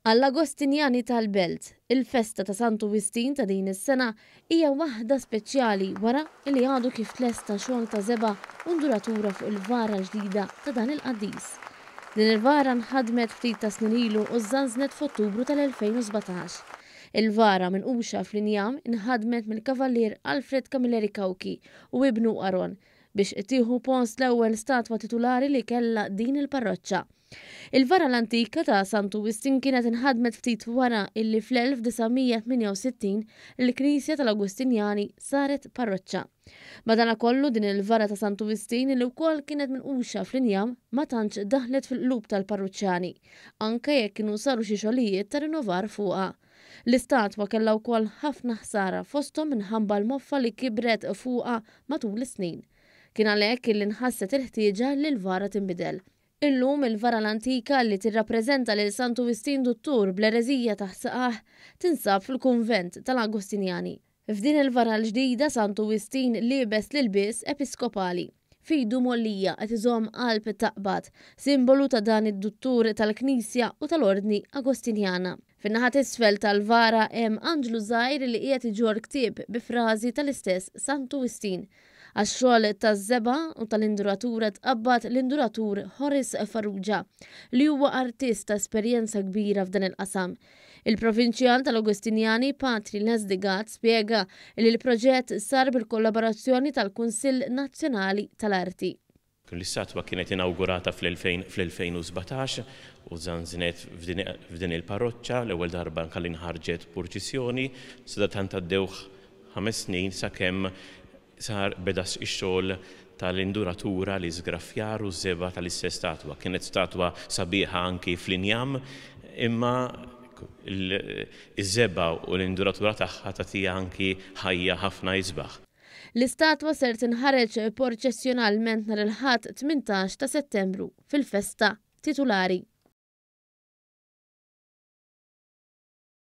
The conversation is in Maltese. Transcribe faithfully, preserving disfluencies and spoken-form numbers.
Għall-Agostinjani tal-Belt, il-festa ta' Santu Wistin ta' din is-sena hija waħda speċjali wara li għadu kif tlesta xogħol ta' żebgħa u nduratura fuq il-vara l-ġdida ta' dan il-qaddis. Din il-vara nħadmet ftit ta' snin ilu u żżanżnet f'Ottubru tal-elfejn u sbatax. Il-vara minquxa fl-injam inħadmet mill-Kavallier Alfred Camilleri Cauchi u ibnu Aron biex tieħu post l-ewwel statwa titulari li kellha din il-parroċċa. Il-vara l-antika ta' Santu Wistin kienet inħadmet ftit wara illi fl-elf disa' mija tmienja u sittin il-Knisja tal-Agostinjani saret parroċċa. Madanakollu din il-vara ta' Santu Wistin li wkoll kienet minquxa fl-injam ma tantx daħlet fil-qlub tal-parruċċani, anke jekk kienu saru xi xogħlijiet ta' rinnovar fuqha. L-istatwa kellha wkoll ħafna ħsara fosthom minħabba l-moffa li kibret fuqha matul is-snin. Kien għalhekk li nħasset il-ħtieġa li l-vara tinbidel. Illum il-vara l-antika li tirrappreżenta lil Santu Wistin Duttur bl-ereżija taħt saqah tinsab fil-kunvent tal-Agostinjani. F'din il-vara l-ġdida Santu Wistin liebes l-ilbies episkopali. Fidu mollija qed iżomm qalb taqbad, simbolu ta' dan id-duttur tal-Knisja u tal-Ordni Agostinjana. Fin-naħa t'isfel tal-vara hemm anġlu żgħir li qiegħed iġorr ktieb bi frażi tal-istess Santu Wistin. Għax-xogħol taż-żebgħa u tal-induratura tqabbad l-induratur Horace Farrugia, li huwa artist ta' esperjenza kbira f'dan il-qasam. Il-Provinċjal tal-Agostinjani Patri Leslie Gatt spjega li l-proġett sar bil-kollaborazzjoni tal-Kunsill Nazzjonali tal-Arti. L-istatwa kienet inaugurata fl-elfejn u sbatax u żanżnet f'din il-parroċċa, l-ewwel darba nkalli nħarġet purċissjoni, sadattant għaddew ħames snin sakemm sar beda x-xogħol tal-induratura li żgraffjar u żebgħa tal-istess statwa. Kienet statwa sabiħa anki fl-injam, imma iż-żebgħa u l-induratura tagħha tagħtiha anki ħajja ħafna isbaħ. L-istatwa ser tinħareġ porċessjonalment nhar il-Ħadd tmintax ta' Settembru fil-festa titulari.